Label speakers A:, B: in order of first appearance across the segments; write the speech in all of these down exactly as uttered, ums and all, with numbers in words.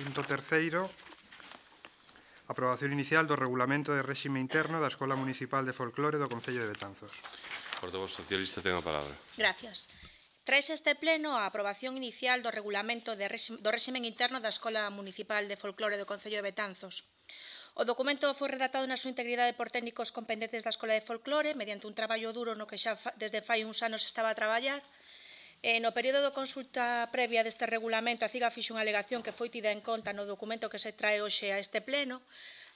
A: Punto terceiro. Aprobación inicial do regulamento de réxime interno da Escola Municipal de Folclore do Concello de Betanzos.
B: Portavoz socialista ten a palabra.
C: Gracias. Traes este pleno a aprobación inicial do regulamento de réxime, do réximen interno da Escola Municipal de Folclore do Concello de Betanzos. O documento foi redactado na súa integridade por técnicos competentes da Escola de Folclore mediante un traballo duro no que xa desde fai uns anos estaba a traballar. E no período de consulta previa deste regulamento, a CIGA fixe unha alegación que foi tida en conta no documento que se trae hoxe a este pleno,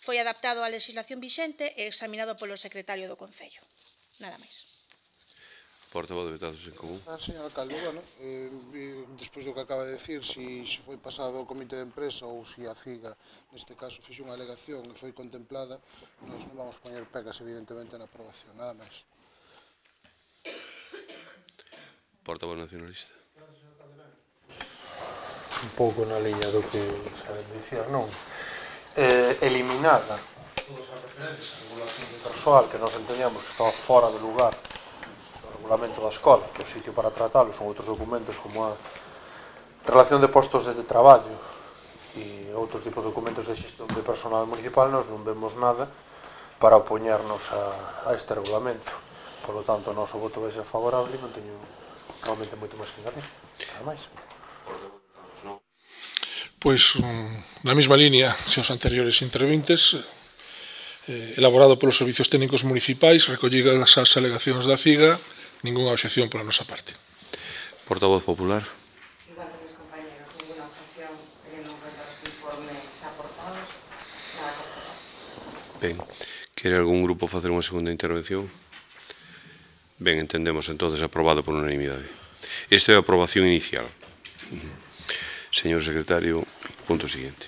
C: foi adaptado á legislación vixente e examinado polo secretario do Concello. Nada máis.
B: Portavoz de Betanzos en Común.
D: Ah, señor alcalde, bueno, eh, despois do que acaba de decir, si, si foi pasado ao comité de empresa ou si a CIGA, neste caso, fixe unha alegación e foi contemplada, nos non vamos poñer pegas, evidentemente, na aprobación, nada máis.
B: Portavoz nacionalista.
E: Un pouco na liña do que saben dicir, non? Eh, eliminada todas as referencias a regulación de persoal que nos entendíamos que estaba fora de lugar do regulamento da escola, que o sitio para tratalo son outros documentos como a relación de postos de traballo e outros tipos de documentos de xestión de personal municipal. Nos non vemos nada para opoñernos a, a este regulamento. Por lo tanto, o noso voto vai ser favorable e non teño realmente moito máis que engadir. Nada máis.
F: Pois, na mesma línea que os anteriores interventes, eh, elaborado polos servizos técnicos municipais, recollidas as alegacións da CIGA, ningunha obxección pola nosa parte.
B: Portavoz popular.
G: Igual que mis compañeros, ninguna objeción, teniendo en cuenta los informes aportados, nada que aportar.
B: Ben, quere algún grupo facer unha segunda intervención? Ben, entendemos entonces aprobado por unanimidade. Esta é a aprobación inicial. Señor secretario, punto siguiente.